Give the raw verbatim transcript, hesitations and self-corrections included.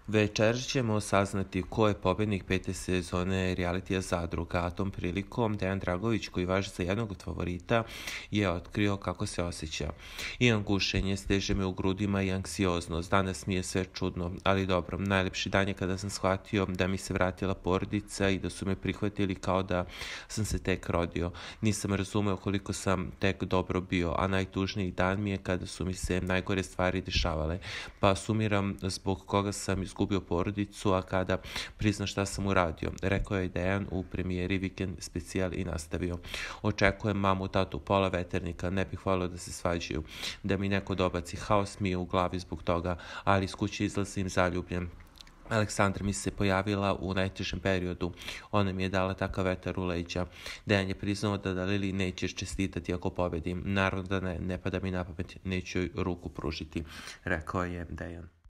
Večeras ćemo saznati ko je pobednik pete sezone realitija Zadruga, a tom prilikom Dejan Dragović, koji važi za jednog od favorita, je otkrio kako se osjeća. Imam gušenje, steže me u grudima i anksioznost, danas mi je sve čudno, ali dobro, najlepši dan je kada sam shvatio da mi se vratila porodica i da su me prihvatili kao da sam se tek rodio. Nisam razumeo koliko sam tek dobro bio, a najtužniji dan mi je kada su mi se najgore stvari dešavale, pa sumiram zbog koga sam izgubio porodicu, a kada prizna šta sam uradio, rekao je Dejan u premijeri Vikend specijal i nastavio. Očekujem mamu, tatu, pola veternika, ne bih volio da se svađaju, da mi neko dobaci, haos mi je u glavi zbog toga, ali iz kuće izlazim zaljubljen. Aleksandra mi se pojavila u najtežem periodu. Ona mi je dala takav vetar u leđa. Dejan je priznao da Dalili nećeš čestitati ako pobedim. Naravno da ne, ne pada mi na pamet, neću joj ruku pružiti, rekao je Dejan.